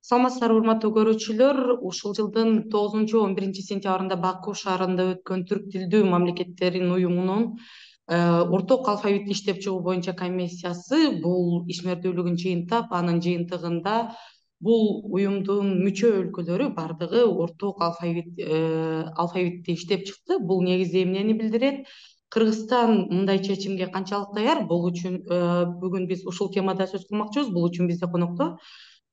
Саламатсыздарбы урматтуу көрүүчүлөр. Ушул жылдын 9-11 сентябрында Баку шаарында өткөн Түрк тилдүү мамлекеттердин уюмунун орток алфавитти иштеп чыгуу боюнча комиссиясы бул ишмердүүлүгүн жыйынтап, анын жыйынтыгында бул уюмдун мүчө өлкөлөрү бардыгы орток алфавитти иштеп чыкты. Бул негизи эмнени билдирет? Кыргызстан мындай чечимге канчалык даяр? Бул үчүн бүгүн биз ушул темада сөз кылмакчыбыз. Бул үчүн бизде конокто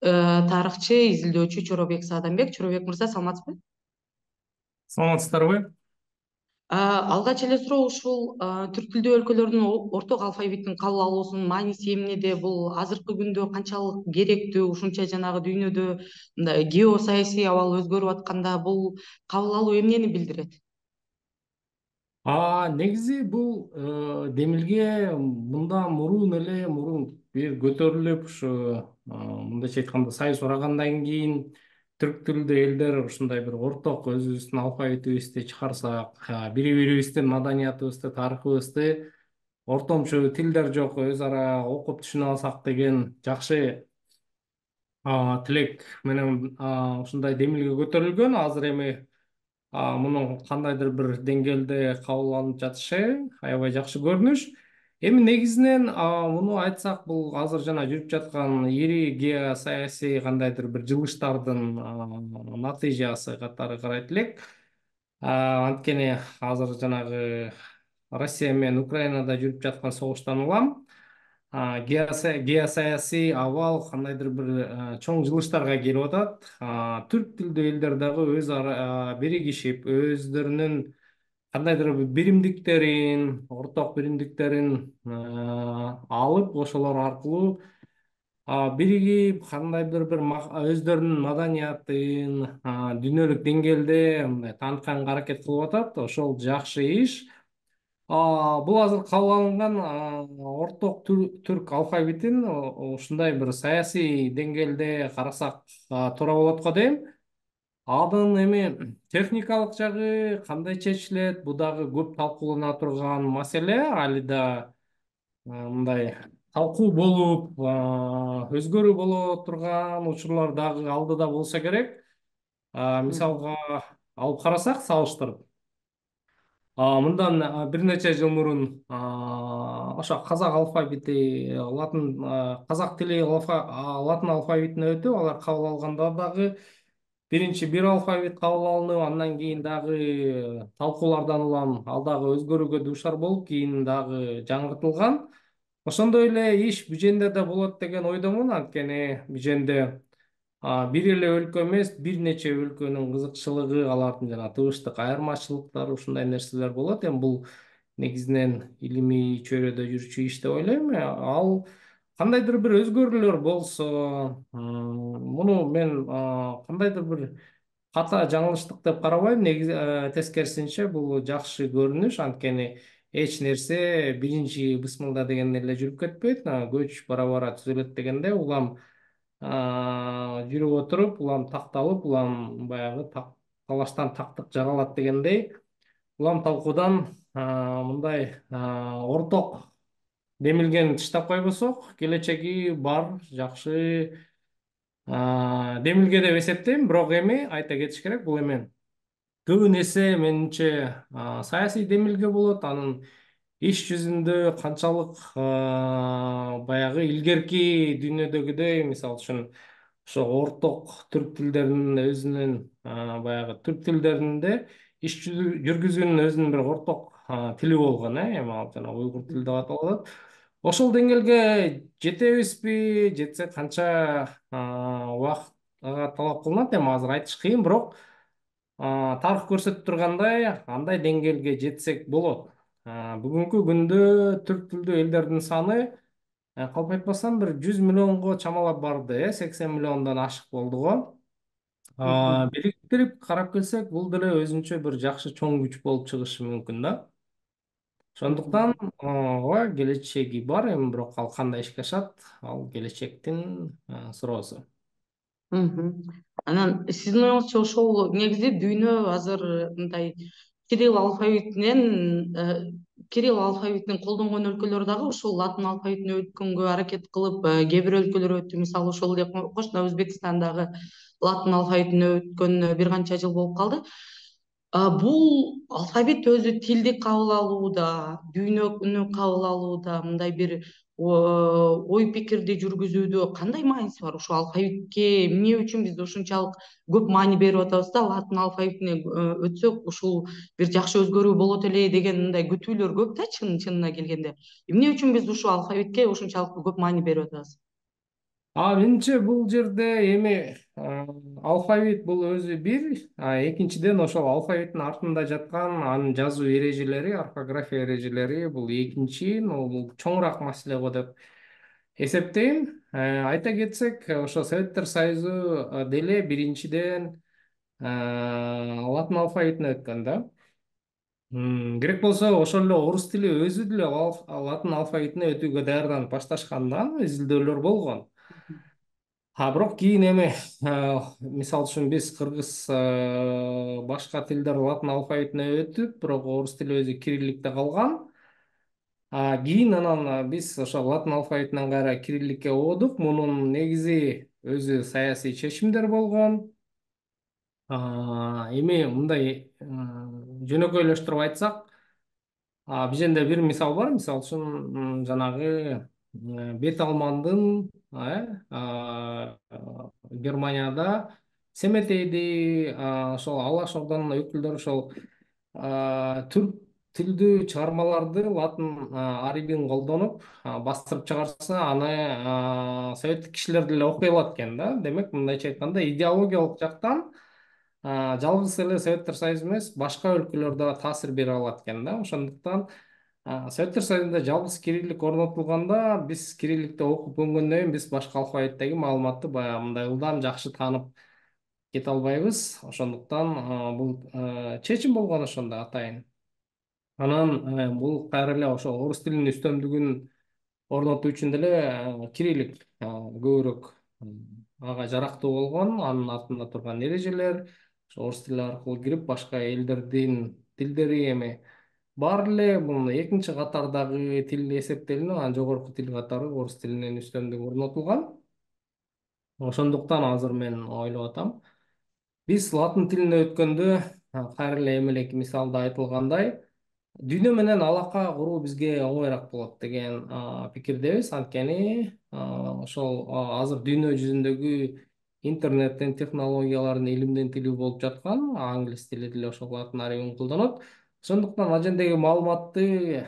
тарыхчы, изилдөөчү Чоробек Саадамбек. Чоробек мырза, саламатсызбы? Саламатсыздарбы? Алгач эле суроо ушул түрк тилдүү өлкөлөрдүн орток алфавиттин кабыл алуусунун мааниси эмнеде? Бул азыркы күндө канчалык керектүү? Ушунча жанагы дүйнөдө мындай геосаясий абал өзгөрүп атканда бул кабыл алуу эмнени билдирет? Негизи бул демилге мындан мурун бир көтөрүлүп ушу мындайча айтканда сайыс урагандан кийин түрк тилдүү элдер ушундай бир орток өзүбүздүн алфавитибизди чыгарсак, бири бирибиздин маданиятыбызды, тарыхыбызды ортомчу тилдер жок өз ара окуп түшүнө алсак деген жакшы тилек менен ушундай демилге көтөрүлгөн. Азыр эми мунун кандайдыр бир деңгээлде кабыл алынып жатышы аябай жакшы көрүнүш. Эми негизинен муну айтсак, бул азыр жана жүрүп жаткан ири геосаясий кандайдыр бир жылыштардын натыйжасы катары карайт элек. Анткени азыр жанагы Россия менен Украинада жүрүп жаткан согуштан улам геосаясий абал кандайдыр бир чоң жылыштарга келип атат. Түрк тилдүү элдер дагы өз ара биригишип, өздөрүнүн кандайдыр бир биримдиктерин, орток биримдиктерин алып, ошолор аркылуу биригип, кандайдыр бир өздөрүнүн маданиятын дүйнөлүк деңгээлде мындай таанытканга аракет кылып атат. Ошол жакшы иш. Бул азыр кабыл алынган орток түрк алфавитин ушундай бир саясий деңгээлде карасак туура болот го дейм. Анын эми техникалык жагы кандай чечилет? Бул дагы көп талкуулана турган маселе. Али да мындай талкуу болуп, өзгөрүү боло турган учурлар дагы алдыда болсо керек. Мисалга алып карасак, салыштырып. Мындан бир нече жыл мурун ошо казак алфавити, казак тили латын алфавитине өтүп, алар кабыл алганда дагы биринчи бир алфавит кабыл алынып, андан кийин дагы талкуулардан улам ал дагы өзгөрүүгө дуушар болуп, кийин дагы жаңыртылган. Ошондой эле иш Биженде да болот деген ойдомун. Анткени Биженде бир эле өлкө эмес, бир нече өлкөнүн кызыкчылыгы, алардын жана тыбыштык айырмачылыктары, ушундай нерселер болот. Эми бул негизинен илимий чөйрөдө жүрчү иш деп ойлойм. Ал кандайдыр бир өзгөрүүлөр болсо, муну мен кандайдыр бир ката жаңылыштык деп карабайм. Негизи тескерисинче бул жакшы көрүнүш. Анткени эч нерсе биринчи бысмылда деген эле жүрүп кетпейт. Көч бара түзөлөт дегенде улам жүрүп отуруп, улам такталып, улам баягы талаштан тактык жаралат дегендей, улам талкуудан мындай орток демилгени тыштап койбосок, келечеги бар, жакшы демилге деп эсептейм. Бирок эми айта кетиш керек, бул эми көбүн эсе менимче саясий демилге болот. Анын иш жүзүндө канчалык баягы илгерки дүйнөдөгүдөй, мисалы үчүн ошо орток түрк тилдеринин өзүнүн баягы түрк тилдеринде иш жүргүзүүнүн өзүнүн бир орток тили болгон, эми ал жана уйгур тили деп аталат. Ошол деңгээлге жетебизби, жетсек канча убакыт талап кылынат, эми азыр айтыш кыйын. Бирок тарых көрсөтүп тургандай, андай деңгээлге жетсек болот. Бүгүнкү күндө түрк тилдүү элдердин саны калп айтпасам бир 100 миллионго чамалап барды, 80 миллиондон ашык болду го. Бириктирип карап келсек, бул деле өзүнчө бир жакшы чоң күч болуп чыгышы мүмкүн да. Ошондуктан ооба келечеги бар, эми бирок ал кандай ишке ашат, ал келечектин суроосу. Анан сиздин оюңузча ошол негизи дүйнө азыр мындай кирилл алфавитинен кирилл алфавитин колдонгон өлкөлөр дагы ушул латын алфавитине өткөнгө аракет кылып, кээ бир өлкөлөр өттү. Мисалы ошол эле кошуна Өзбекстандагы латын алфавитине өткөнүнө бир канча жыл болуп калды. Бул алфавит өзү тилди кабыл алууда, дүйнөнү кабыл алууда, мындай бир ой пикирди жүргүзүүдө кандай мааниси бар? Ушул алфавитке эмне үчүн биз ушунчалык көп маани берип атабыз да, латын алфавитине өтсөк ушул бир жакшы өзгөрүү болот эле деген мындай күтүүлөр көп да, чынына келгенде. Эмне үчүн биз ушул алфавитке ушунчалык көп маани берип атабыз? Менимче бул жерде эми алфавит бул өзү бир, экинчиден ошол алфавиттин артында жаткан анын жазуу эрежелери, орфография эрежелери бул экинчи, бул чоңураак маселе го деп эсептейм. Айта кетсек, ошо Советтер Союзу деле биринчиден латын алфавитине өткөн да. Керек болсо ошол эле орус тили өзү деле латын алфавитине өтүүгө даярданып башташкандан изилдөөлөр болгон. Бирок кийин эми мисалы үчүн биз кыргыз башка тилдер латын алфавитине өтүп, бирок орус тили өзү кирилликте калган. Кийин анан биз ошо латын алфавитинен кайра кирилликке оодук. Мунун негизи өзү саясий чечимдер болгон. Эми мындай жөнөкөйлөштүрүп айтсак, бизенде бир мисал бар. Мисалы үчүн жанагы бет алмандын Германияда Семетейди ошол Алаш Ордонун өкүлдөрү ошол түрк тилдүү чыгармаларды латын арибин колдонуп бастырып чыгарса, аны советтик кишилер деле окуй алат экен да. Демек, мындайча айтканда, идеологиялык жактан жалгыз эле Советтер Союзу эмес, башка өлкөлөр да таасир бере алат экен да. Ошондуктан Советтер Союзунда жалгыз кириллик орнотулганда, биз кирилликте окуп өнгөндөн кийин биз башка алфавиттеги маалыматты баягы мындай ылдам жакшы таанып кете албайбыз. Ошондуктан бул чечим болгон ошондо атайын. Анан бул кайра эле ошо орус тилинин үстөмдүгүн орнотуу үчүн деле кириллик көбүрөөк ага жарактуу болгон. Анын артында турган эрежелер ошо орус тили аркылуу кирип, башка элдердин тилдери эми бар эле бул экинчи катардагы тил эсептелинип, анан жогорку тил катары орус тилинин үстөмдүгү орнотулган. Ошондуктан азыр мен ойлоп атам, биз латын тилине өткөндө кайра эле эмелеки мисалда айтылгандай, дүйнө менен алака куруу бизге оңоюраак болот деген пикирдебиз. Анткени ошол азыр дүйнө жүзүндөгү интернеттин, технологиялардын, илимдин тили болуп жаткан, англис тили деле ошол латын арибин колдонот. Ошондуктан ал жердеги маалыматты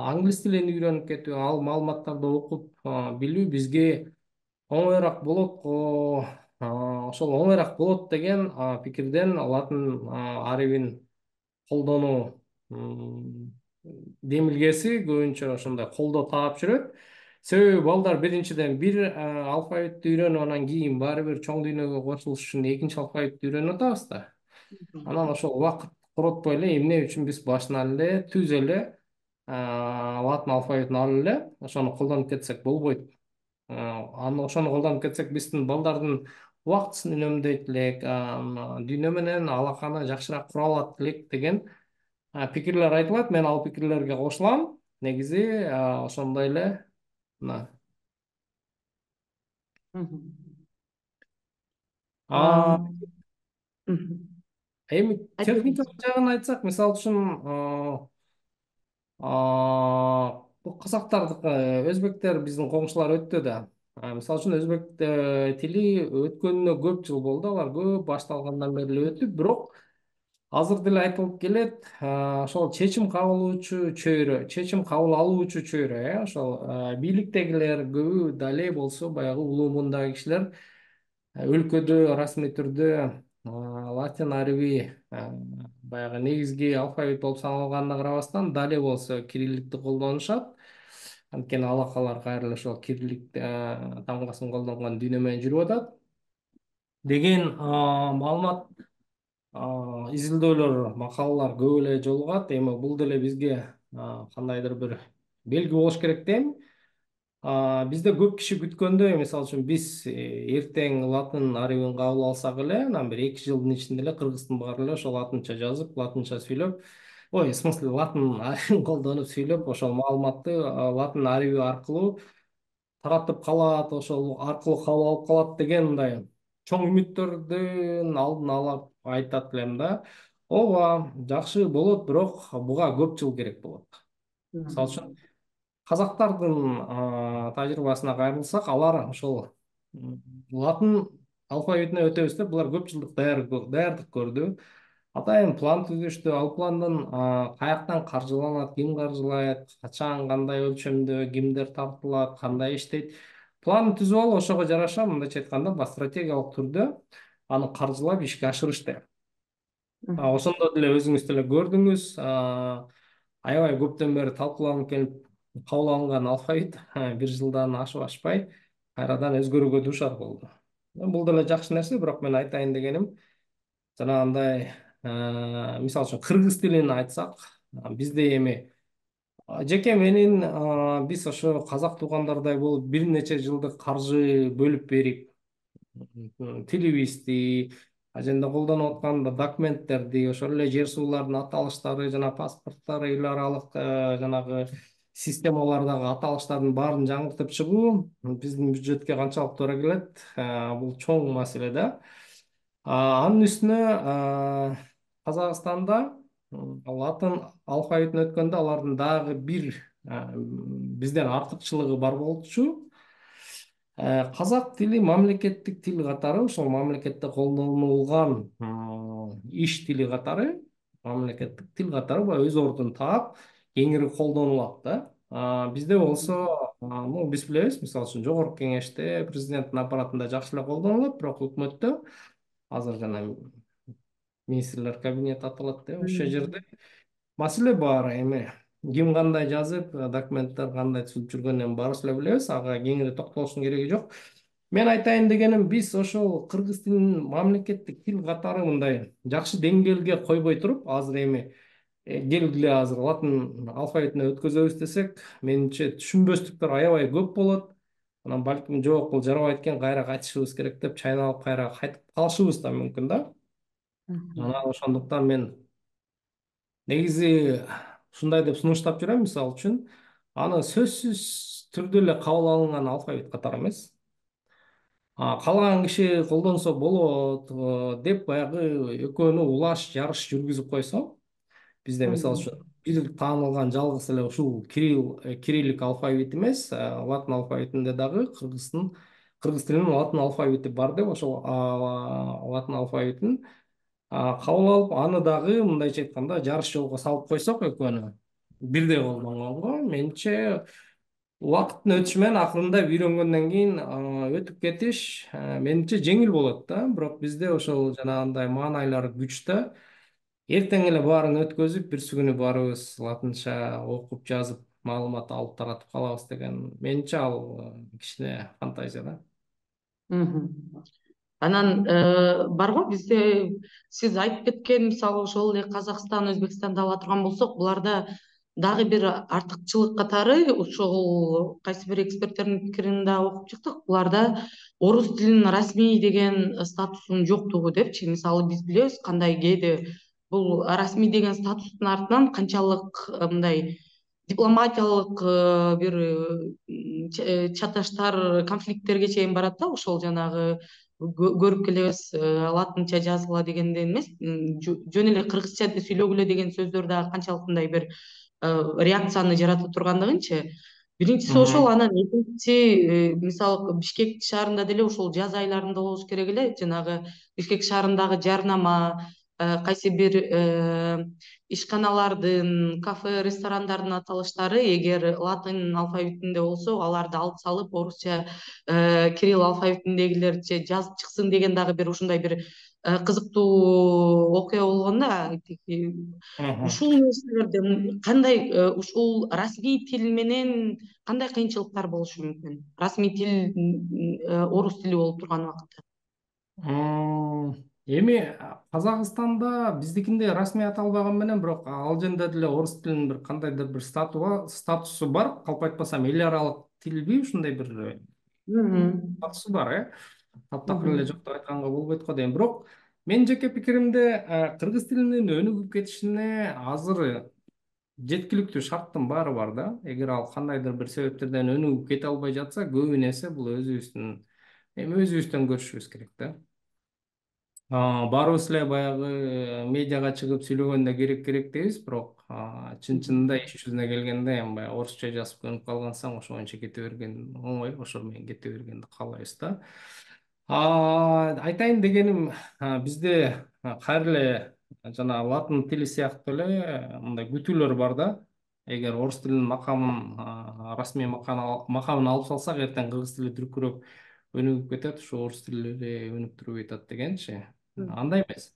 англис тилин үйрөнүп кетүү, ал маалыматтарды окуп билүү бизге оңоюраак болот го. Ошол оңоюраак болот деген пикирден латын арибин колдонуу демилгеси көбүнчө ошондой колдоо таап жүрөт. Себеби балдар биринчиден бир алфавитти үйрөнүп, анан кийин баары бир чоң дүйнөгө кошулуш үчүн экинчи алфавитти үйрөнүп атабыз да. Анан ошол убакыт коротпой эле эмне үчүн биз башынан эле түз эле латын алфавитин алып эле ошону колдонуп кетсек болбойт. Ошону колдонуп кетсек, биздин балдардын убактысын үнөмдөйт элек, дүйнө менен алаканы жакшыраак кура алат элек деген пикирлер айтылат. Мен ал пикирлерге кошулам. Негизи ошондой эле мына эми Айтып техникалык жагын айтсак, мисалы үчүн бул казактардыкы, өзбектер биздин коңшулар өттү да. Мисалы үчүн өзбек тили өткөнүнө көп жыл болду. Алар көп башталгандан бери эле өтүп, бирок азыр деле айтылып келет, ошол чечим кабыл алуучу чөйрө, ошол бийликтегилер көбү дале болсо баягы улуу мундагы кишилер өлкөдө расмий түрдө латын ариби баягы негизги алфавит болуп саналганына карабастан, дале болсо кирилликти колдонушат. Анткени алакалар кайра эле ошол кириллик тамгасын колдонгон дүйнө менен жүрүп атат деген маалымат, изилдөөлөр, макалалар көп эле жолугат. Эми бул деле бизге кандайдыр бир белги болуш керек дейм. Бизде көп киши күткөндөй, мисалы үчүн биз эртең латын арибин кабыл алсак эле, анан бир 2 жылдын ичинде эле кыргыздын баары эле ошо латынча жазып, латынча сүйлөп, ой, в смысле, латын арибин колдонуп сүйлөп, ошол маалыматты латын ариби аркылуу таратып калат, ошол аркылуу кабыл алып калат деген мындай чоң үмүттөрдүн алдын алып айтат элем да. Ооба, жакшы болот, бирок буга көп жыл керек болот. Мисалы үчүн казактардын тажрыйбасына кайрылсак, алар ошол латын алфавитине өтөбүз деп булар көп жылдык даярдык көрдү. Атайын план түзүштү. Ал пландын каяктан каржыланат, ким каржылайт, качан, кандай өлчөмдө, кимдер тартылат, кандай иштейт. План түзүп алып, ошого жараша мындайча айтканда, стратегиялык түрдө аны каржылап ишке ашырышты. Ошондо деле өзүңүз деле көрдүңүз, аябай көптөн бери талкууланып келип кабыл алынган алфавит бир жылдан ашпай кайрадан өзгөрүүгө дуушар болду. Бул деле жакшы нерсе, бирок мен айтайын дегеним, жанагындай мисалы үчүн кыргыз тилин айтсак, бизде эми жеке менин биз ошо казак туугандардай болуп бир нече жылдык каржы бөлүп берип тилибизди, аженде колдонуп аткан документтерди, ошол эле жер суулардын аталыштары жана паспорттор, эл аралык жанагы системалардагы аталыштардын баарын жаңыртып чыгуу биздин бюджетке канчалык туура келет, бул чоң маселе да. Анын үстүнө Казакстанда латын алфавитине өткөндө алардын дагы бир бизден артыкчылыгы бар болчу. Казак тили мамлекеттик тил катары, ошол мамлекетте колдонулган иш тили катары, мамлекеттик тил катары өз ордун таап, кеңири колдонулат да. Бизде болсо, биз билебиз, мисалы үчүн Жогорку Кеңеште, президенттин аппаратында жакшы эле колдонулат, бирок өкмөттө азыр жана министрлер кабинети аталат да, ошол жерде маселе бар. Эми ким кандай жазып, документтер кандай түзүлүп жүргөнүн баарыбыз эле билебиз, ага кеңири токтолуштун кереги жок. Мен айтайын дегеним, биз ошол кыргыз тилин мамлекеттик тил катары мындай жакшы деңгээлге койбой туруп, азыр эми келгиле азыр латын алфавитине өткөзөбүз десек, менимче түшүнбөстүктөр аябай көп болот. Анан балким жок, бул жарабайт экен, кайра кайтышыбыз керек деп чайналып кайра кайтып калышыбыз да мүмкүн да. Анан ошондуктан мен негизи ушундай деп сунуштап жүрөм, мисалы үчүн аны сөзсүз түрдө эле кабыл алынган алфавит катары эмес, каалаган киши колдонсо болот деп баягы экөөнү улаш жарыш жүргүзүп койсо, бизде мисалы үчүн бир таанылган жалгыз эле ушул кириллик алфавит эмес, латын алфавитинде дагы кыргыз тилинин латын алфавити бар деп, ошол латын алфавитин кабыл алып, аны дагы мындайча айтканда жарыш жолго салып койсок экөөнү бирдей колдонгонго, менимче убакыттын өтүшү менен акырында үйрөнгөндөн кийин өтүп кетиш менимче жеңил болот да. Бирок бизде ошол жанагындай маанайлар күч да. Эртең эле баарын өткөзүп, бирси күнү баарыбыз латынча окуп, жазып, маалымат алып таратып калабыз деген, менимче ал кичине фантазия да. Анан бар го бизде сиз айтып кеткен, мисалы ошол эле Казакстан, Өзбекстанды ала турган болсок, буларда дагы бир артыкчылык катары, ошол кайсы бир эксперттердин пикирин да окуп чыктык, буларда орус тилинин расмий деген статусунун жоктугу депчи. Мисалы биз билебиз кандай кээде бул расмий деген статустун артынан канчалык мындай дипломатиялык бир чаташтар, конфликттерге чейин барат да. Ошол жанагы көрүп келебиз, латынча жазгыла дегенден эмес, жөн эле кыргызча сүйлөгүлө деген сөздөр дагы канчалык мындай бир реакцияны жарата тургандыгынчы. Биринчиси ошол, анан экинчиси, мисалы Бишкек шаарында деле ушул жаз айларында болуш керек эле, жанагы Бишкек шаарындагы жарнама, кайсы бир ишканалардын, кафе, ресторандардын аталыштары эгер латын алфавитинде болсо, аларды алып салып орусча, кирилл алфавитиндегилерче жазып чыксын деген дагы бир ушундай бир кызыктуу окуя болгон да. Ушул нерселерде кандай, ушул расмий тил менен кандай кыйынчылыктар болушу мүмкүн? Расмий тил орус тили болуп турган убакытта. Эми Казакстанда биздикиндей расмий аталбаган менен, бирок ал жерде деле орус тилинин бир кандайдыр бир статусу бар. Калп айтпасам, эл аралык тилби ушундай бир статусу бар, таптакыр эле жок деп айтканга болбойт го дейм. Бирок Менин жеке пикиримде кыргыз тилинин өнүгүп кетишине азыр жеткиликтүү шарттын баары бар да. Эгер ал кандайдыр бир себептерден өнүгүп кете албай жатса, көбүнесе бул өзүбүздөн көрүшүбүз керек да. Баарыбыз эле баягы медиага чыгып сүйлөгөндө керек дейбиз, бирок чын-чынында иш жүзүнө келгенде эми баягы орусча жазып көнүп калгансаң ошо боюнча кете берген оңой, ошо менен кете бергенди каалайбыз да. Айтайын дегеним, бизде кайра эле жана латын тили сыяктуу эле мындай күтүүлөр бар да. Эгер орус тилинин расмий макамын алып салсак, эртең кыргыз тили дүркүрөп өнүгүп кетет, ушу орус тили эле өнүктүрүп атат дегенчи. Андай эмес.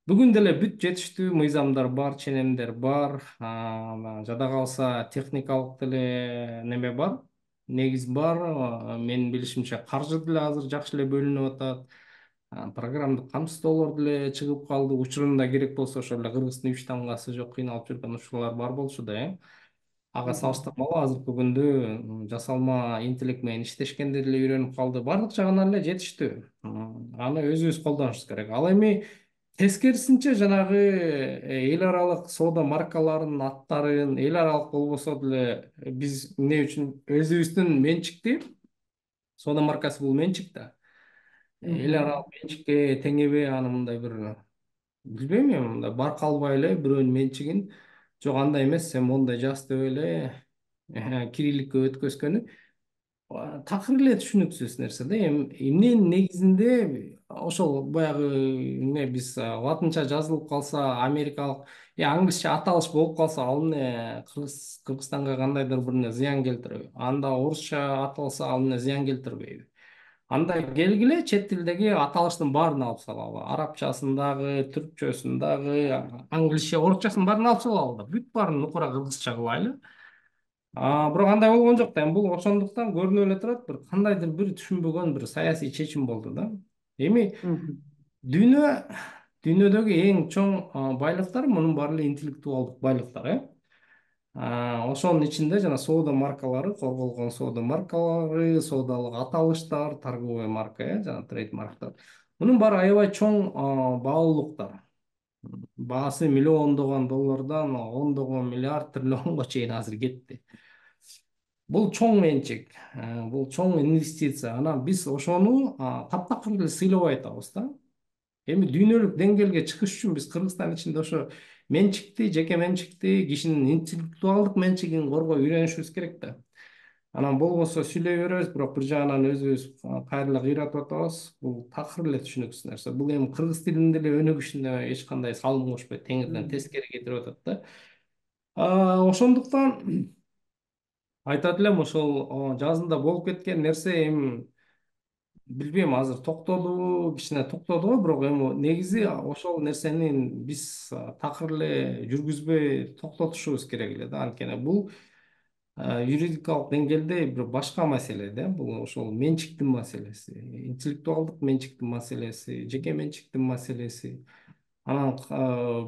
Бүгүн деле бүт жетиштүү мыйзамдар бар, ченемдер бар. Жада калса техникалык деле неме бар, негиз бар. Менин билишимче каржы деле азыр жакшы эле бөлүнүп атат. Программдык камсыздоолор деле чыгып калды. Учурунда керек болсо ошол эле кыргыздын үч тамгасы жок кыйналып жүргөн учурлар бар болчу да, Ага салыштырмалуу азыркы күндө жасалма интеллект менен иштешкенди деле үйрөнүп калды. Бардык жагынан эле жетиштүү. Аны өзүбүз колдонушубуз керек. Ал эми тескерисинче жанагы эл аралык соода маркаларынын аттарын, эл аралык болбосо деле биз эмне үчүн өзүбүздүн менчикти соода маркасы бул менчик да. Эл аралык менчикке теңеби аны мындай бир билбейм эми мындай барка албай эле бирөөнүн менчигин жок андай эмес сен мондай жаз деп эле кирилликке өткөзгөнү такыр эле түшүнүксүз нерсе да. Эми эмненин негизинде ошол баягы эмне биз латынча жазылып калса, америкалык англисче аталыш болуп калса, ал эмне Кыргызстанга кандайдыр бир зыян келтиреби? Анда орусча аталса, ал эмне зыян келтирбейби? Анда келгиле чет тилдеги аталыштын баарын алып салалы. Арабчасын дагы, түркчөсүн дагы, англисче, орусчасын баарын алып салалы да. Бүт баарын нукура кыргызча кылайлы. Бирок андай болгон жок да. Эми бул ошондуктан көрүнүп эле турат, бир кандайдыр бир түшүнбөгөн бир саясий чечим болду да. Эми дүйнө дүйнөдөгү эң чоң байлыктар мунун баары эле интеллектуалдык байлыктар, Ошонун ичинде жана соода маркалары, корголгон соода маркалары, соодалык аталыштар, торговый марка, жана трейдмарктар. Мунун баары аябай чоң баалуулуктар. Баасы миллиондогон доллардан ондогон миллиард триллионго чейин азыр кетти. Бул чоң менчик, бул чоң инвестиция. Анан биз ошону таптакыр эле сыйлабай атабыз да. Эми дүйнөлүк деңгээлге чыгыш үчүн биз Кыргызстан ичинде ошо менчикти, жеке менчикти, кишинин интеллектуалдык менчигин коргой үйрөнүшүбүз керек да. Анан болбосо сүйлөй беребиз, бирок бир жагынан өзүбүз кайра эле кыйратып атабыз. Бул такыр эле түшүнүксүз нерсе. Бул эми кыргыз тилинин деле өнүгүшүнө эч кандай салым кошпойт, теңирден тескери кетирип атат да. Ошондуктан айтат элем, ошол жазында болуп кеткен нерсе эми билбейм, азыр токтодубу, кичине токтоду го, бирок эми негизи ошол нерсени биз такыр эле жүргүзбөй токтотушубуз керек эле да. Анткени бул юридикалык деңгээлде бир башка маселе да. Бул ошол менчиктин маселеси, интеллектуалдык менчиктин маселеси, жеке менчиктин маселеси. Анан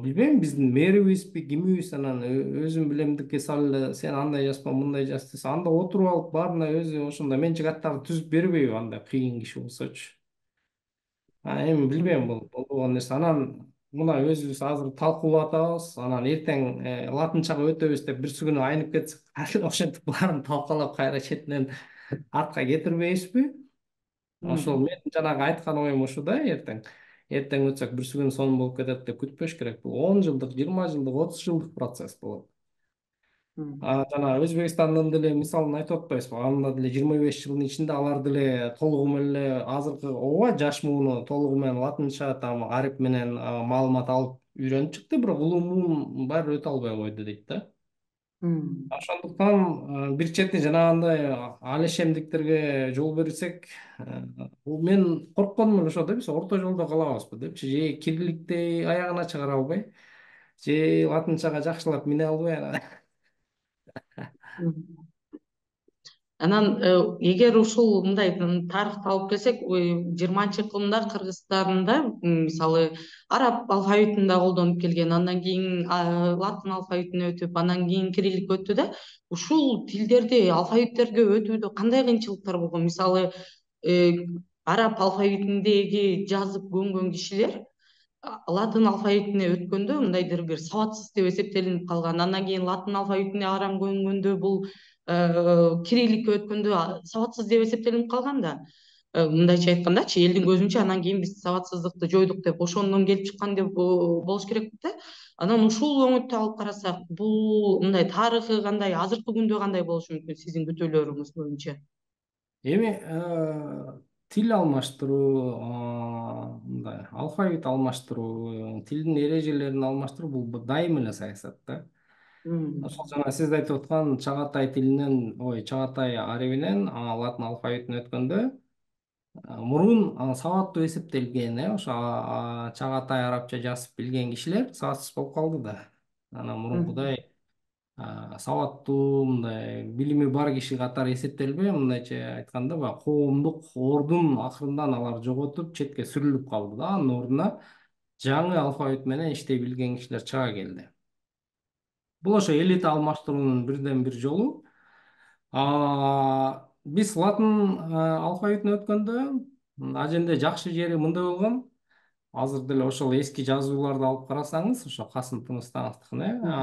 билбейм, биздин мэрибизби, кимибиз анан өзүм билемдикке салып сен андай жазба, мындай жаз десе, анда отуруп алып баарына өзү ошондой менчик аттарды түзүп бербейби, андай кыйын киши болсочу. Эми билбейм, бул болгон нерсе. Анан мына өзүбүз азыр талкуулап атабыз. Анан эртең латынчага өтөбүз деп бирси күнү айнып кетсек, ошентип баарын талкалап кайра четинен артка кетирбейбизби? Ошол мен жанагы айткан оюм ушу да. Эртең өтсөк бирси күнү сонун болуп кетет деп күтпөш керек. Бул 10 жылдык, 20 жылдык, 30 жылдык процесс болот. Жана Өзбекстандын деле мисалын айтып атпайбызбы? Анда деле 25 жылдын ичинде алар деле толугу менен эле азыркы ооба жаш мууну толугу менен латынча там арип менен маалымат алып үйрөнүп чыкты, бирок улуу муун баары өтө албай койду дейт да. Ошондуктан бир чети жанагындай алешемдиктерге жол берсек, мен коркконум ошо да, биз орто жолдо калабызбы депчи. Же кирилликти аягына чыгара албай, же латынчага жакшылап мине албай. Анан эгер ушул мындай тарыхты алып келсек, 20-кылымда Кыргызстанда мисалы араб алфавитинде колдонуп келген, андан кийин латын алфавитине өтүп, андан кийин кириллик өттү да. Ушул тилдерди алфавиттерге өтүүдө кандай кыйынчылыктар болгон? Мисалы араб алфавитиндеги жазып көнгөн кишилер латын алфавитине өткөндө мындайдыр бир сабатсыз деп эсептелинип калган. Андан кийин латын алфавитине арам көнгөндө бул кирилликке өткөндө сабатсыз деп эсептелинип калган да. Мындайча айткандачы, элдин көзүнчө анан кийин биз сабатсыздыкты жойдук деп ошондон келип чыккан деп болуш керек да. Анан ушул оңойтто алып карасак, бул мындай тарыхы кандай, азыркы күндө кандай болушу мүмкүн сиздин күтүүлөрүңүз боюнча? Эми тил алмаштыруу, мындай алфавит алмаштыруу, тилдин эрежелерин алмаштыруу бул дайым эле саясат да. Ошол жана сиз айтып аткан чагатай тилинен, чагатай арабинен латын алфавитине өткөндө мурун сабаттуу эсептелген, ошо чагатай арабча жазып билген кишилер сабатсыз болуп калды да. Анан мурункудай сабаттуу, мындай билими бар киши катары эсептелбей, мындайча айтканда баягы коомдук ордун акырындан алар жоготуп, четке сүрүлүп калды да. Анын ордуна жаңы алфавит менен иштей билген кишилер чыга келди. Бул ошо элита алмаштыруунун бирден бир жолу. Биз латын алфавитине өткөндө аженде жакшы жери мындай болгон. Азыр деле ошол эски жазууларды алып карасаңыз, ошо Касым Тыныстановдукун,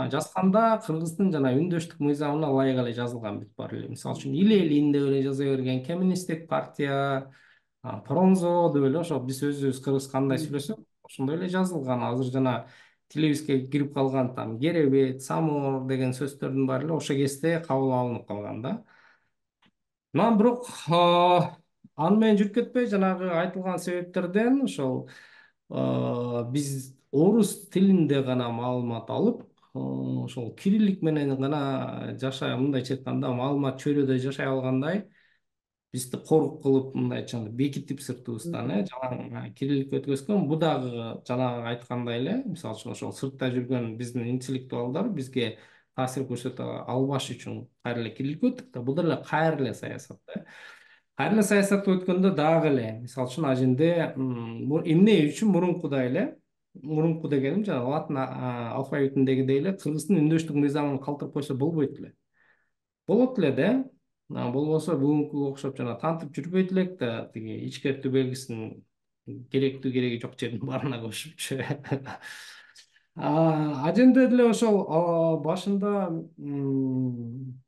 жазганда кыргыздын жана үндөштүк мыйзамына ылайык эле жазылган бүт баары эле. Мисалы үчүн илелин деп эле жаза берген, коммунисттик партия, Пронзо деп эле, ошо биз өзүбүз кыргыз кандай сүйлөсөк, ошондой эле жазылган. Азыр жана тилибизге кирип калган там керебет, самор деген сөздөрдүн баары эле ошо кезде кабыл алынып калган да. Анан бирок аны менен жүрүп кетпей, жанагы айтылган себептерден ошол биз орус тилинде гана маалымат алып, ошол кириллик менен гана жашай, мындайча айтканда маалымат чөйрөдө жашай алгандай бизди корук кылып, мындайча бекитип сыртыбыздан жалаң кирилликке өткөзгөн. Бул дагы жанагы айткандай эле, мисалы үчүн ошол сыртта жүргөн биздин интеллектуалдар бизге таасир көрсөтө албаш үчүн кайра эле кирилликке өттүк да. Бул деле кайра эле саясат да. Кайра эле саясатты өткөндө дагы эле, мисалы үчүн аженде эмне үчүн мурунку дегеним жана латын алфавитиндегидей эле кыргыздын үндөштүк мыйзамын калтырып койсо болбойт эле. Болот эле да. Болбосо бүгүнкүгө окшоп жана тантип жүрбөйт элек да, тиги ичкертүү белгисин керектүү кереги жок жердин баарына кошупчу. Аженде деле ошол башында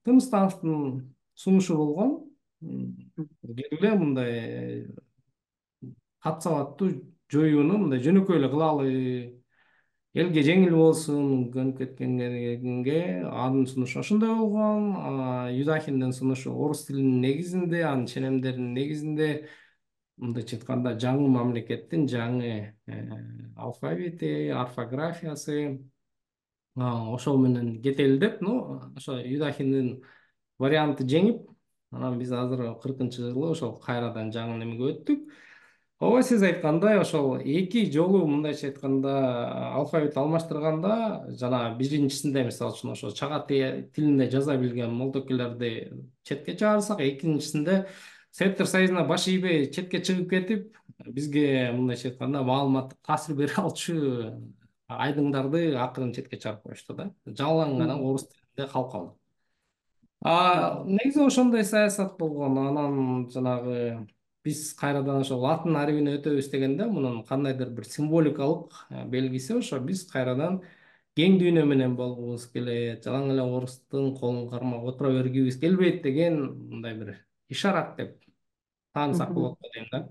Тыныстановдун сунушу болгон. Келгиле мындай кат сабаттуу жоюуну мындай жөнөкөй эле кылалы, элге жеңил болсун, көнүп кеткенге анын сунушу ошондой болгон. Юдахиндин сунушу орус тилинин негизинде, анын ченемдеринин негизинде, мындайча айтканда жаңы мамлекеттин жаңы алфавити, орфографиясы ошол менен кетели деп, ошо Юдахиндин варианты жеңип, анан биз азыр 40-жылы ошол кайрадан жаңы немеге өттүк. Ооба, сиз айткандай ошол эки жолу мындайча айтканда алфавит алмаштырганда, жана биринчисинде мисалы үчүн ошо чагатай тилинде жаза билген молдокелерди четке чыгарсак, экинчисинде Советтер Союзуна баш ийбей четке чыгып кетип, бизге мындайча айтканда маалыматтык таасир бере алчу айдыңдарды акырын четке чыгарып коюшту да. Жалаң гана орус тилинде калып калды. Негизи ошондой саясат болгон. Анан жанагы биз кайрадан ошо латын арабине өтөбүз дегенде, мунун кандайдыр бир символикалык белгиси ошо биз кайрадан кең дүйнө менен болгубуз келет, жалаң эле орустун колун кармап отура бергибиз келбейт деген мындай бир ишарат деп таанысак болот го дейм да.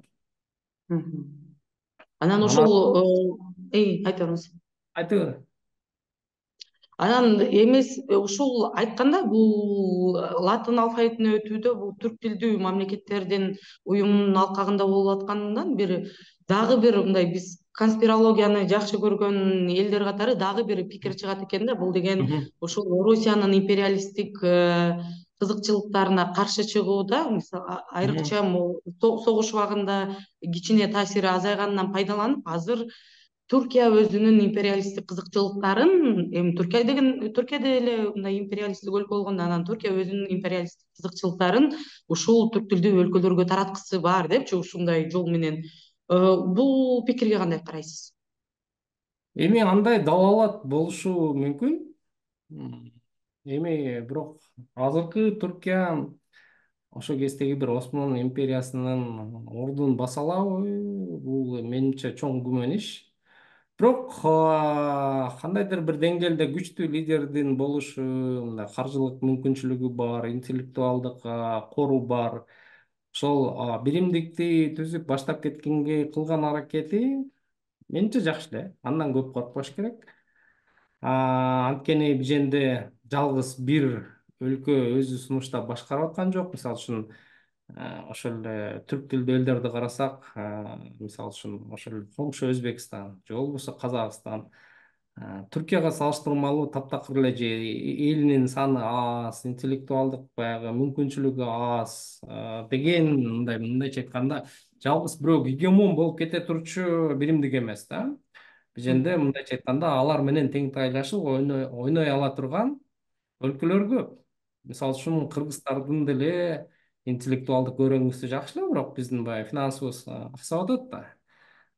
Анан ошол айта бериңиз. Айта бер. Анан эмес ушул айтканда, бул латын алфавитине өтүүдө бул түрк тилдүү мамлекеттердин уюмунун алкагында болуп аткандан дагы бир мындай биз конспирологияны жакшы көргөн элдер катары дагы бир пикир чыгат экен да. Бул деген ушул Орусиянын империалисттик кызыкчылыктарына каршы чыгууда, мисалы айрыкча согуш убагында кичине таасири азайганынан пайдаланып, азыр Туркия өзүнүн империалисттик кызыкчылыктарын, эми Туркия деле мындай империалисттик өлкө болгондо, анан Туркия өзүнүн империалисттик кызыкчылыктарын ушул түрк тилдүү өлкөлөргө тараткысы бар депчи, ушундай жол менен. Бул пикирге кандай карайсыз? Эми андай далалат болушу мүмкүн. Эми бирок азыркы Туркия ошол кездеги бир Осман империясынын ордун баса алабы? Бул менимче чоң күмөн иш. Бирок кандайдыр бир деңгээлде күчтүү лидердин болушу, мындай каржылык мүмкүнчүлүгү бар, интеллектуалдык кору бар. Ошол биримдикти түзүп баштап кеткенге кылган аракети менимче жакшы эле. Андан көп коркпош керек. Анткени биженде жалгыз бир өлкө өзү сунуштап башкарып аткан жок. Мисалы үчүн ошол эле түрк тилдүү элдерди карасак, мисалы үчүн ошол коңшу Өзбекстан же болбосо Казакстан, Түркияга салыштырмалуу таптакыр эле, же элинин саны аз, интеллектуалдык баягы мүмкүнчүлүгү аз деген, мындайча айтканда жалгыз бирөө гегемон болуп кете турчу биримдик эмес да. Биженде мындайча айтканда алар менен тең тайлашып ойной ала турган өлкөлөр көп. Мисалы үчүн Кыргыздардын деле интеллектуалдык өрөңүсү жакшы эле, бирок биздин баягы финансыбыз аксап атат да.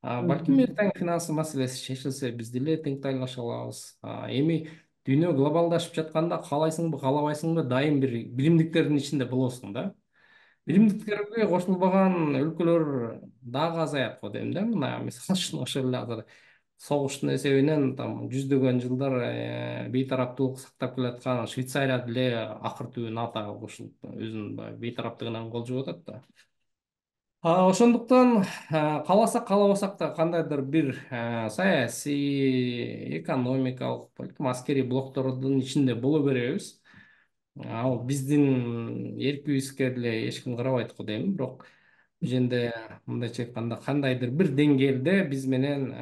Балким эртең финансы маселеси чечилсе биз деле тең тайлаша алабыз. Эми дүйнө глобалдашып жатканда каалайсыңбы, каалабайсыңбы, дайым бир биримдиктердин ичинде болосуң да. Биримдиктерге кошулбаган өлкөлөр дагы азаят го дейм да. Мына мисалы үчүн ошол эле азыр согуштун эсебинен там жүздөгөн жылдар бейтараптуулук сактап келаткан Швейцария деле акыр түбү НАТОго кошулуп өзүнүн баягы бейтараптыгынан кол жууп атат да. Ошондуктан кааласак каалабасак да кандайдыр бир саясий, экономикалык, балким аскерий блоктордун ичинде боло беребиз. Ал биздин эркибизге деле эч ким карабайт го дейм. Бирок биженде мындайча айтканда кандайдыр бир деңгээлде биз менен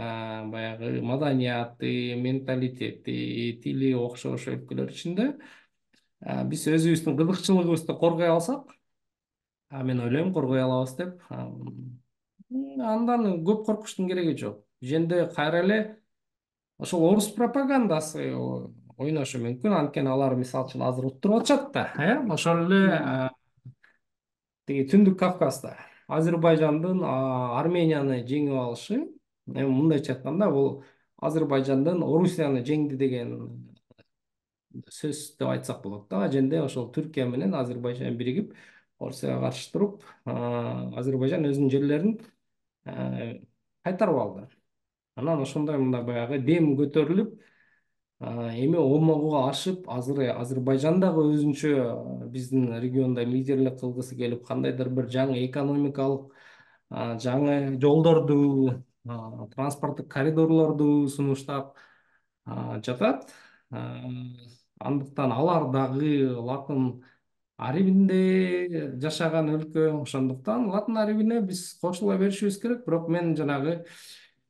баягы маданияты, менталитети, тили окшош өлкөлөр ичинде биз өзүбүздүн кызыкчылыгыбызды коргой алсак, мен ойлойм коргой алабыз деп. Андан көп коркуштун кереги жок. Биженде кайра эле ошол орус пропагандасы ойношу мүмкүн. Анткени алар мисалы үчүн азыр уттуруп атышат да, ошол эле тиги Түндүк Кавказда Азербайжандын Арменияны жеңип алышы, эми мындайча айтканда бул Азербайжандын Орусияны жеңди деген сөз деп айтсак болот да. Аженде ошол Түркия менен Азербайжан биригип Орусияга каршы туруп, Азербайжан өзүнүн жерлерин кайтарып алды. Анан ошондой мындай баягы дем көтөрүлүп, эми омогуга ашып, азыр Азербайжан дагы өзүнчө биздин региондо лидерлик кылгысы келип, кандайдыр бир жаңы экономикалык, жаңы жолдорду, транспорттук коридорлорду сунуштап жатат. Андыктан алар дагы Латын Арибинде жашаган өлкө, ошондуктан Латын Арибине биз кошула беришибиз керек. Бирок мен жанагы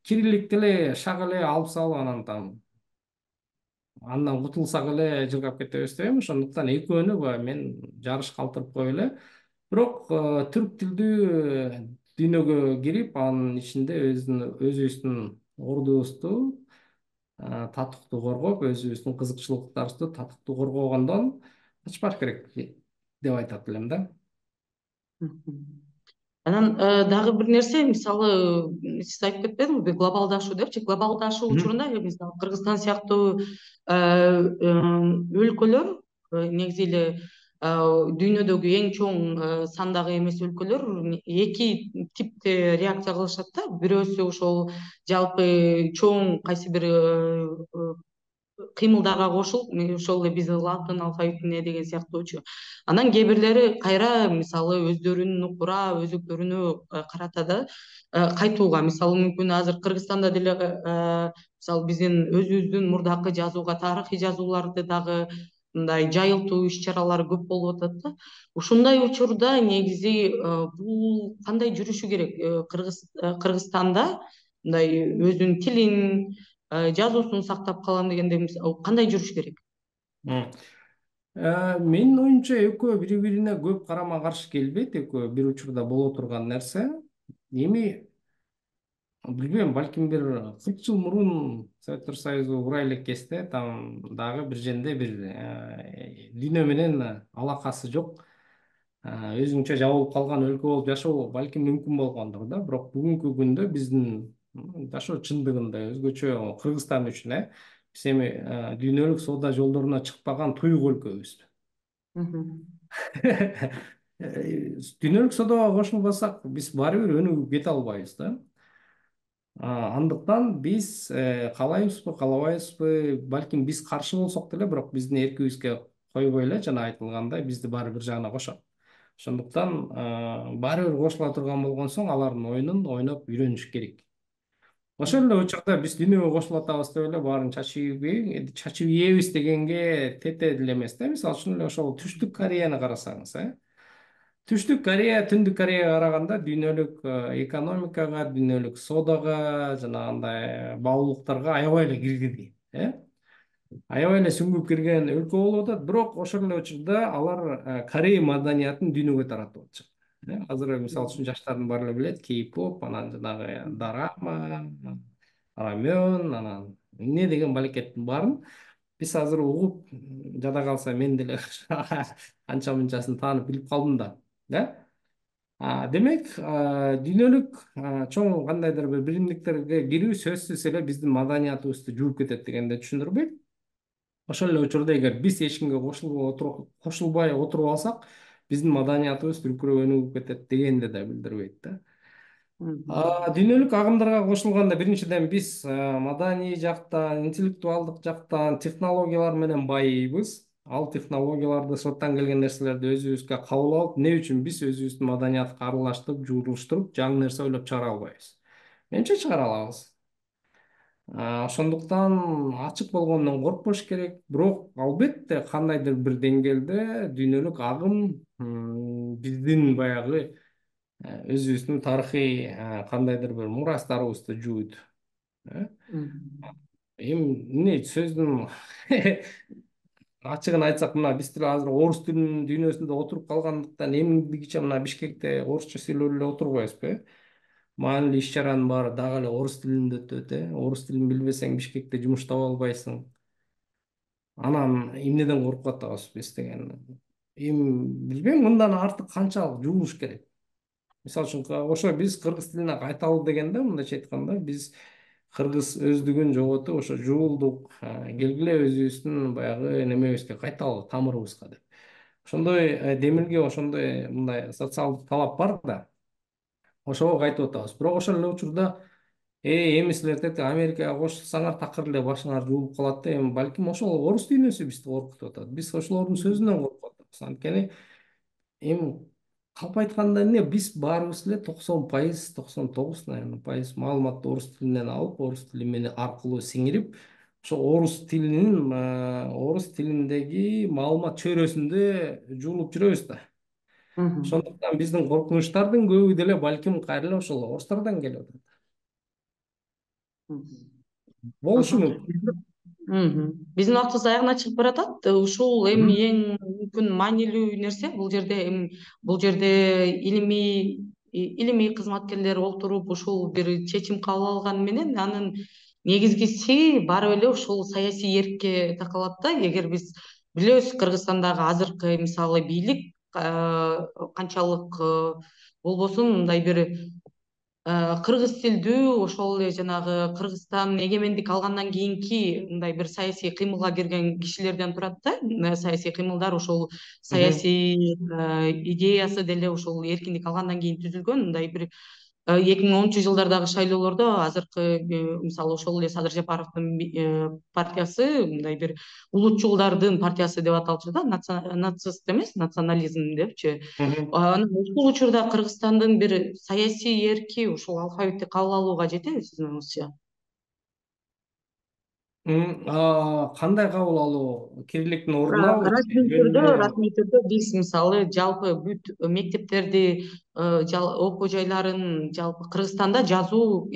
кириллик деле шак эле алып салып андан кутулсак эле жыргап кетебиз деп эми. Ошондуктан экөөнү баягы мен жарыш калтырып коюп эле. Бирок түрк тилдүү дүйнөгө кирип, анын ичинде өзүбүздүн ордубузду татыктуу коргоп, өзүбүздүн кызыкчылыктарыбызды татыктуу коргогондон качпаш керек деп айтат элем да. Анан дагы бир нерсе, мисалы сиз айтып кетпедиңизби глобалдашуу депчи, глобалдашуу учурунда мисалы Кыргызстан сыяктуу өлкөлөр негизи эле дүйнөдөгү эң чоң сандагы эмес өлкөлөр эки типте реакция кылышат да. Бирөөсү ошол жалпы чоң кайсы бир кыймылдарга кошулуп, ошол эле биздин латын алфавитине деген сыяктуучу. Анан кээ бирлери кайра мисалы өздөрүнүн укура өзөктөрүнө карата да кайтууга, мисалы мүмкүн азыр Кыргызстанда деле мисалы биздин өзүбүздүн мурдакы жазууга тарыхый жазууларды дагы мындай жайылтуу иш чаралары көп болуп атат да. Ушундай учурда негизи бул кандай жүрүшү керек? Кыргызстанда мындай өзүнүн тилин, жазуусун сактап калам дегенде кандай жүрүш керек? Менин оюмча экөө бири бирине көп карама каршы келбейт, экөө бир учурда боло турган нерсе. Эми билбейм, балким бир 40 жыл мурун Советтер Союзу кура элек кезде там дагы бир жерде бир дүйнө менен алакасы жок, өзүнчө жабылып калган өлкө болуп жашоо балким мүмкүн болгондур да. Бирок бүгүнкү күндө биздин жашоо чындыгында өзгөчө Кыргызстан үчүн биз эми дүйнөлүк соода жолдоруна чыкпаган туюк өлкөбүз. Дүйнөлүк соодага кошулбасак биз баары бир өнүгүп кете албайбыз да. Андыктан биз каалайбызбы, каалабайбызбы, балким биз каршы болсок деле, бирок биздин эркибизге койбой эле жана айтылгандай бизди баары бир жагына кошот. Ошондуктан баары бир кошула турган болгон соң алардын оюнун ойноп үйрөнүш керек. Ошол эле учурда биз дүйнөгө кошулуп атабыз деп эле баарын чачып ийебиз дегенге тете деле эмес да. Мисалы үчүн эле ошол Түштүк Кореяны карасаңыз, Түштүк Корея Түндүк Кореяга караганда дүйнөлүк экономикага, дүйнөлүк соодага жана андай баалуулуктарга аябай эле киргиди. Аябай эле сүңгүп кирген өлкө болуп атат, бирок ошол эле учурда алар Корея маданиятын дүйнөгө таратып атышат. Азыр мисалы үчүн жаштардын баары эле билет, кей-поп, анан жанагы дорама, рамен, анан эмне деген балекеттин баарын биз азыр угуп, жада калса мен деле анча мынчасын таанып билип калдым да. Демек, дүйнөлүк чоң кандайдыр бир биримдиктерге кирүү сөзсүз эле биздин маданиятыбызды жууп кетет дегенди түшүндүрбөйт. Ошол эле учурда эгер биз эч кимге кошулбай отуруп алсак, биздин маданиятыбыз түркүрөп өнүгүп кетет дегенди да билдирбейт да. Дүйнөлүк агымдарга кошулганда биринчиден биз маданий жактан, интеллектуалдык жактан, технологиялар менен байыйбыз. Ал технологияларды, сырттан келген нерселерди өзүбүзгө кабыл алып, эмне үчүн биз өзүбүздүн маданиятка аралаштырып, жуурулуштуруп, жаңы нерсе ойлоп чыгара албайбыз? Менимче чыгара алабыз. Ошондуктан ачык болгондон коркпош керек. Бирок албетте кандайдыр бир деңгээлде дүйнөлүк агым биздин баягы өзүбүздүн тарыхый кандайдыр бир мурастарыбызды жуйт. Эми эмне сөздүн ачыгын айтсак, мына биз деле азыр орус тилинин дүйнөсүндө отуруп калгандыктан эмгиче мына Бишкекте орусча сүйлөп эле отурбайбызбы? Маанилүү иш чаранын баары дагы эле орус тилинде өтөт. Орус тилин билбесең Бишкекте жумуш таба албайсың. Анан эмнеден коркуп атабыз биз деген. Эми билбейм, мындан артык канчалык жуулуш керек. Мисалы үчүн ошо биз кыргыз тилине кайталы дегенде, мындайча айтканда, биз кыргыз өздүгүн жоготуп, ошо жуулдук, келгиле өзүбүздүн баягы немебизге кайталы, тамырыбызга деп. Ошондой демилге, ошондой мындай социалдык талап бар да. Ошого кайтып атабыз. Бирок ошол эле учурда эми силер тетиги Америкага кошулсаңар такыр эле башыңар жуулуп калат да. Эми балким ошол орус дүйнөсү бизди коркутуп атат. Биз ошолордун сөзүнөн коркуп атабыз. Анткени эми калп айтканда эмне, биз баарыбыз эле 90%, 99, наверное, пайыз маалыматты орус тилинен алып, орус тили менен аркылуу сиңирип, ошо орус тилиндеги маалымат чөйрөсүндө жуулуп жүрөбүз да. Ошондуктан биздин коркунучтардын көбү деле балким кайра эле ошол орустардан келип атат. Болушу мүмкүн. Биздин убактыбыз аягына чыгып баратат. Ушул эми эң мүмкүн маанилүү нерсе бул жерде илимий кызматкерлер олтуруп ушул бир чечим кабыл алганы менен анын негизгиси баары эле ушул саясий эркке такалат да. Эгер биз билебиз, Кыргызстандагы азыркы мисалы бийлик канчалык болбосун мындай бир кыргыз тилдүү, ошол эле жанагы Кыргызстан эгемендик алгандан кийинки мындай бир саясий кыймылга кирген кишилерден турат да. Саясий кыймылдар ошол саясий идеясы деле ушул эркиндик алгандан кийин түзүлгөн. Мындай бир 2010 жылдардагы шайлоолордо азыркы мисалы ошол эле Садыр Жапаровдун партиясы мындай бир улутчулдардын партиясы деп аталчу да, нацист эмес, национализм депчи. Анан ушул учурда Кыргызстандын бир саясий эрки ушул алфавитти кабыл алууга жетеби сиздин оюңузча? Кандай кабыл алуу? Кирилликтин ордунабы? Расмий түрдө биз мисалы жалпы бүт мектептерди, окуу жайларын жалпы Кыргызстанда жазуу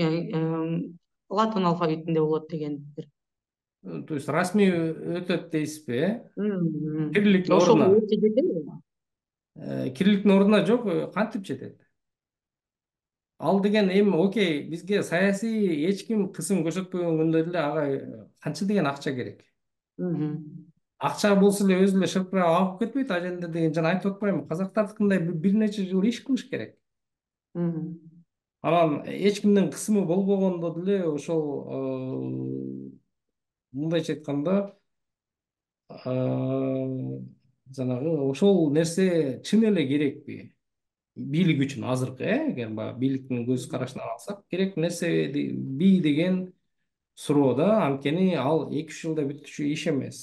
латын алфавитинде болот деген бир. То есть расмий өтөт дейсизби, Кирилликтин Ошого ордуна? өтө жетеби? Кирилликтин ордуна жок, кантип жетет? Ал деген эми окей, бизге саясий эч ким кысым көрсөтпөгөн күндө деле ага канча деген акча керек. Акча болсо эле өзү эле шыркырап агып кетпейт ал жерде деген жана айтып атпаймынбы, казактардыкындай бир нече жыл иш кылыш керек. Анан эч кимдин кысымы болбогондо деле ошол мындайча айтканда жанагы ошол нерсе чын эле керекпи бийлик үчүн азыркы, эгер баягы бийликтин көз карашынан алсак, керек нерсеби деген суроо да. Анткени ал 2-3 жылда бүтүчү иш эмес.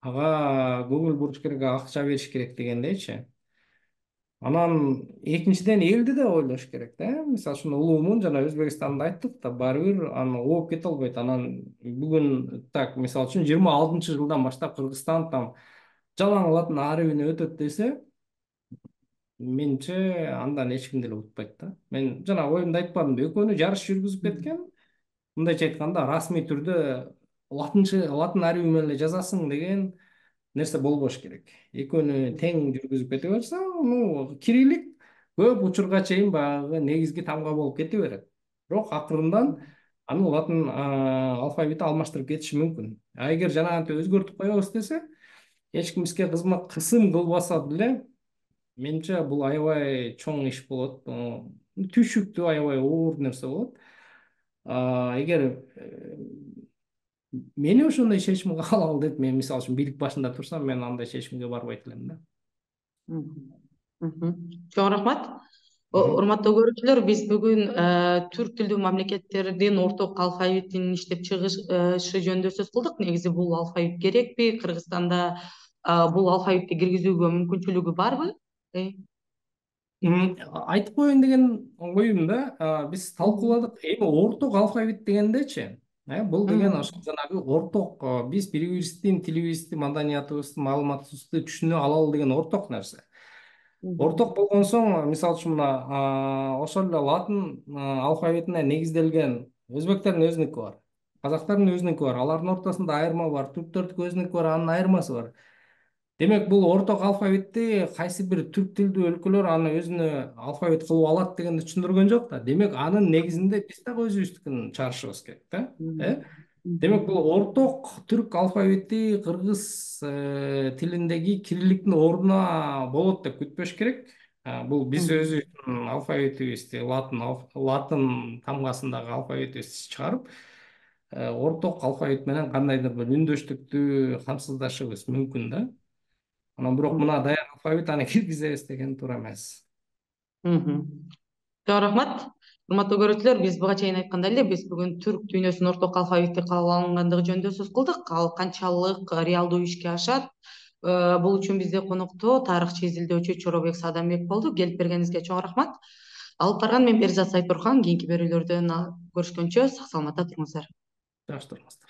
Ага көңүл буруш керек, акча бериш керек дегендейчи. Анан экинчиден элди да ойлош керек да. Мисалы үчүн улуумун жана Өзбекстанды айттык да, баары бир аны ооп кете албайт. Анан бүгүн так мисалы үчүн 26-жылдан баштап Кыргызстан там жалаң латын арабине өтөт десе, менимче андан эч ким деле утпайт да. Мен жана оюмду айтпадымбы, экөөнү жарыш жүргүзүп кеткен. Мындайча айтканда расмий түрдө латын арабы менен эле жазасың деген нерсе болбош керек. Экөөнү тең жүргүзүп кете берсе, кириллик көп учурга чейин баягы негизги тамга болуп кете берет. Бирок акырындан аны латын алфавити алмаштырып кетиши мүмкүн. Эгер жанагынтип өзгөртүп коебуз десе, эч ким бизге кысым кылбаса деле, менимче бул аябай чоң иш болот. Түйшүктүү, аябай оор нерсе болот. Эгер мени ошондой чечимге алалы деп, мен мисалы үчүн бийлик башында турсам, мен андай чечимге барбайт элем да. Чоң рахмат. Урматтуу көрүүчүлөр, биз бүгүн түрк тилдүү мамлекеттердин орток алфавитин иштеп чыгышы жөнүндө сөз кылдык. Негизи бул алфавит керекпи? Кыргызстанда бул алфавитти киргизүүгө мүмкүнчүлүгү барбы? Айтып коеюн деген оюм да. Биз талкууладык. Эми орток алфавит дегендечи, бул деген ошол жанагы орток, биз бири бирибиздин тилибизди, маданиятыбызды, маалыматыбызды түшүнө алалы деген орток нерсе. Орток болгон соң, мисалы үчүн мына ошол эле латын алфавитине негизделген өзбектердин өзүнүкү бар, казактардын өзүнүкү бар, алардын ортосунда айырма бар, түрктөрдүкү өзүнүкү бар, анын айырмасы бар. Демек, бул орток алфавитти кайсы бир түрк тилдүү өлкөлөр аны өзүнө алфавит кылып алат дегенди түшүндүргөн жок да. Демек, анын негизинде биз дагы өзүбүздүкүн чыгарышыбыз керек да. Демек, бул орток түрк алфавити кыргыз тилиндеги кирилликтин ордуна болот деп күтпөш керек. Бул биз өзүбүздүн алфавитибизди, латын тамгасындагы алфавитибизди чыгарып, орток алфавит менен кандайдыр бир үндөштүктү камсыздашыбыз мүмкүн да. Анан бирок мына даяр алфавит, аны киргизебиз деген туура эмес. Чоң рахмат. Урматтуу көрүүчүлөр, биз буга чейин айткандай эле, биз бүгүн түрк дүйнөсүнүн орток алфавити каалангандыгы жөнүндө сөз кылдык. Ал канчалык реалдуу ишке ашат? Бул үчүн бизде конокто тарыхчы, изилдөөчү Чоробек Садамбек болду. Келип бергениңизге чоң рахмат. Алып барган мен Перизат Сайтурхан. Кийинки берүүлөрдөн көрүшкөнчө сак саламатта туруңуздар. Жакшы туруңуздар.